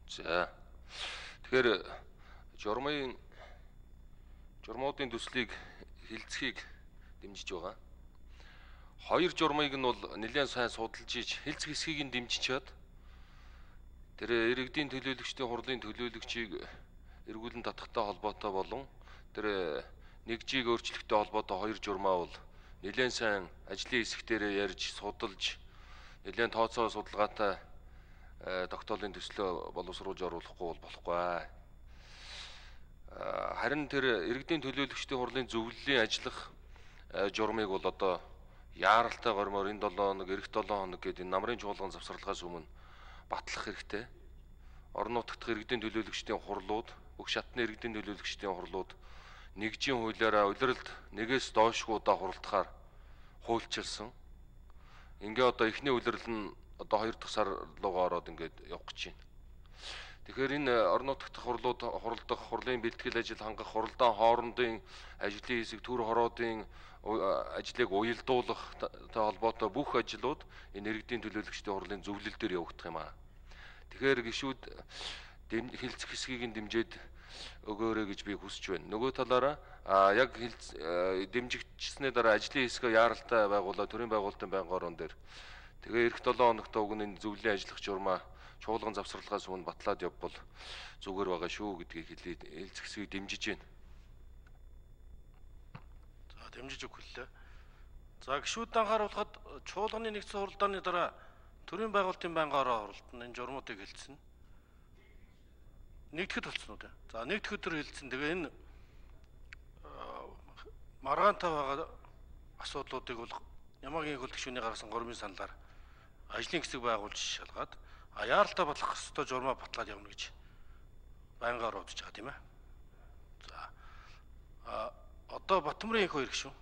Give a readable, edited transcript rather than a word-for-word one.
За. Тэгэхээр журмуудын төслийг хилцхийг дэмжиж байгаа. Хоёр журмыг нь бол нэлээд сайн судалж иж хилцэх хэсгийг нь дэмжиж чад тэр иргэдийн төлөөлөгчдийн хурлын төлөөлөгчийг эргүүлэн татахтай холбоотой болон тэр нэгжийг өөрчлөхтэй холбоотой хоёр журмаа бол нэлээд сайн ажлын хэсэг дээр ярьж судалж нэлээд тооцоо судалгаатай тогтоолын төслөө боловсруулж оруулахгүй бол болохгүй. Харин тэр иргэдийн төлөөлөгчдийн хурлын зөвлөлийн ажиллах журмыг бол одоо яаралтай гормоор энэ 7 хоног, эх 7 хоног гэдэг энэ намрын чуулган завсралгаас өмнө батлах хэрэгтэй. Орон нутгад иргэдийн төлөөлөгчдийн хурлууд, бүх шатны иргэдийн төлөөлөгчдийн хурлууд нэгжийн хуулиараа улиралд нэгээс доошгүй удаа хуралдахаар хуульчилсан. Ингээ одоо эхний улирал нь одоо 2 дахь сар руугаа ороод ингээд явах гэж байна. Тэгэхээр энэ орон нутгад хурлдах, хурлын бэлтгэл ажил хангах, хуралдаан хоорондын ажлын хэсэг, төр хороодын ажлыг уялдуулах холбоотой бүх ажлууд энэ иргэдийн төлөөлөгчдийн хурлын зөвлөл дээр явагдах юм аа. Тэгэхээр гишүүд хилцэх хэсгийг нь дэмжиж өгөөрэй гэж би хүсэж байна. Нөгөө талаараа яг дэмжигдсэний дараа ажлын хэсгээ яаралтай байгуулаад төрийн байгуулалтын байнгын орон дээр тэгээ эх 7 хоногт уг нь зөвлөлийн ажиллах журмаа чуулган завсралгаас өмнө батлаад явбал зүгээр байгаа шүү гэдгийг хэлээд хилцэх хэсгийг дэмжиж байна. За дэмжиж өгүүллээ. За гишүүд анхааруулахад чуулганы нэгдсэн хуралдааны дараа төрийн байгуулалтын байнгын орон хуралд энэ журмуудыг хэлсэн. Нэгдэхэд болсон уу те? За нэгдэх өдөр хэлсэн. Тэгээ энэ маргаантай байгаа асуудлуудыг бол Ямаагийн хөл гишүүний гаргасан гормын саналаар ажлын хэсэг байгуулж шалгаад яаралтай батлах ёстой журмаа батлаад явна гэж байнгаар бодож байгаа тийм ээ. За одоо Батмарын их хоёр гишүүн